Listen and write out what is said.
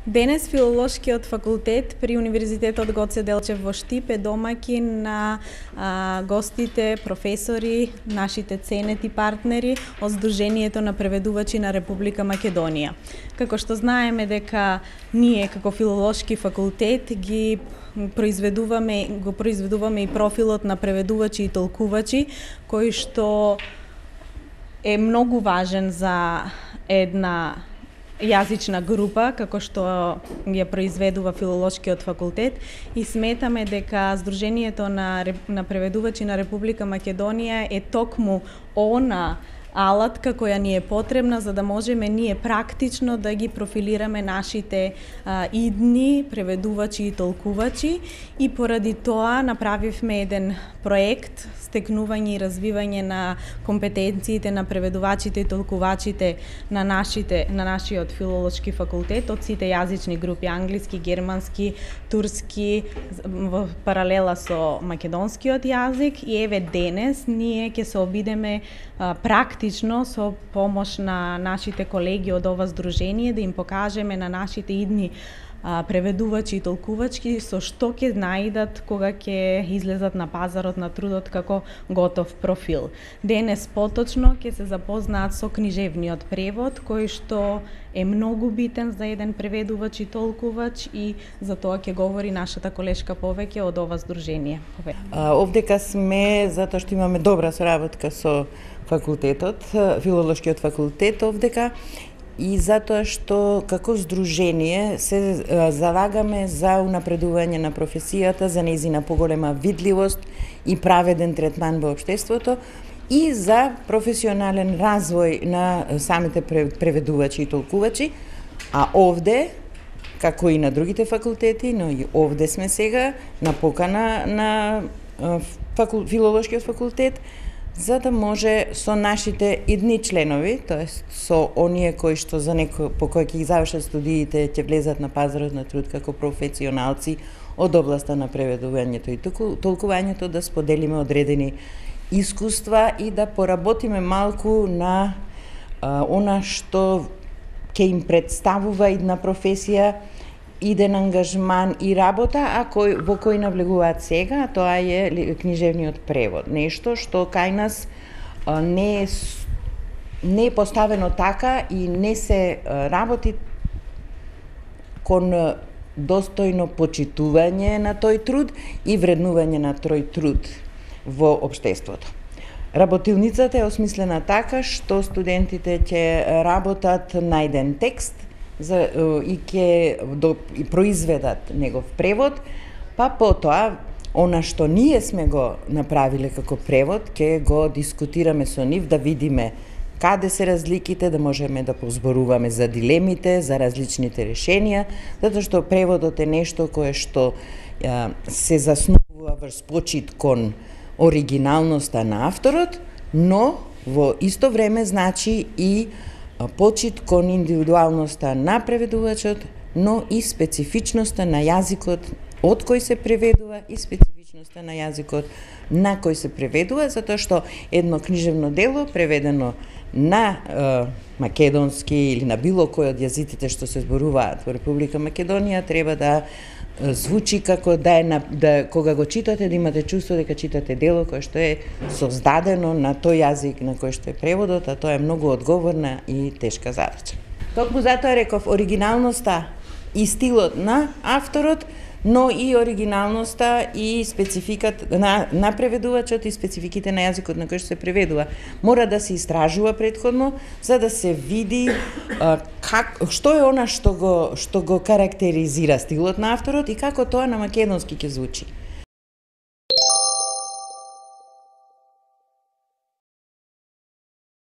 Денес Филолошкиот факултет при Универзитетот Гоце Делчев во Штип е домаќин на гостите, професори, нашите ценети партнери од Сдруженијето на преведувачи на Република Македонија. Како што знаеме дека ние како Филолошки факултет го произведуваме и профилот на преведувачи и толкувачи, кој што е многу важен за една јазична група, како што ја произведува Филолошкиот факултет, и сметаме дека Сдруженијето на преведувачи на Република Македонија е токму она алатка која ни е потребна за да можеме ние практично да ги профилираме нашите идни преведувачи и толкувачи, и поради тоа направивме еден проект стекнување и развивање на компетенциите на преведувачите и толкувачите на нашиот филолошки факултет од сите јазични групи: англиски, германски, турски, во паралела со македонскиот јазик. И еве денес ние ќе се обидеме практично со помош на нашите колеги од ова здружение да им покажеме на нашите идни преведувачи и толкувачки со што ќе наидат кога ќе излезат на пазарот на трудот како готов профил. Денес поточно ќе се запознаат со книжевниот превод, кој што е многу битен за еден преведувач и толкувач, и за тоа ќе говори нашата колешка повеќе од ова здружение. Овдека сме затоа што имаме добра соработка со факултетот, Филолошкиот факултет овдека, и затоа што како здружение се залагаме за унапредување на професијата, за нејзина поголема видливост и праведен третман во општеството и за професионален развој на самите преведувачи и толкувачи. А овде, како и на другите факултети, но и овде сме сега на покана на Филолошкиот факултет, за да може со нашите идни членови, тоест со оние кои што по кои ќе ги завршат студиите, ќе влезат на пазарот на труд како професионалци од областа на преведувањето и толкувањето, да споделиме одредени искуства и да поработиме малку на она што ќе им представува идна професија, иден ангажман и работа, во кој навлегуваат сега, тоа е книжевниот превод. Нешто што кај нас не е поставено така и не се работи кон достојно почитување на тој труд и вреднување на тој труд во општеството. Работилницата е осмислена така што студентите ќе работат на еден текст и ќе произведат негов превод, па потоа она што ние сме го направиле како превод, ќе го дискутираме со нив, да видиме каде се разликите, да можеме да позборуваме за дилемите, за различните решенија, затоа што преводот е нешто кое што се заснувува врз почит кон оригиналноста на авторот, но во исто време значи и почит кон индивидуалноста на преведувачот, но и специфичноста на јазикот од кој се преведува и специфичноста на јазикот на кој се преведува, затоа што едно книжевно дело преведено на македонски или на било кој од јазиците што се зборуваат во Република Македонија треба да звучи како кога го читате, да имате чувство дека читате дело кое што е создадено на тој јазик на кој што е преводот, а тоа е многу одговорна и тешка задача. Токму затоа реков оригиналноста и стилот на авторот, но и оригиналноста и спецификат на преведувачот и спецификите на јазикот на кој што се преведува. Мора да се истражува претходно, за да се види што е она што го карактеризира стилот на авторот и како тоа на македонски ќе звучи.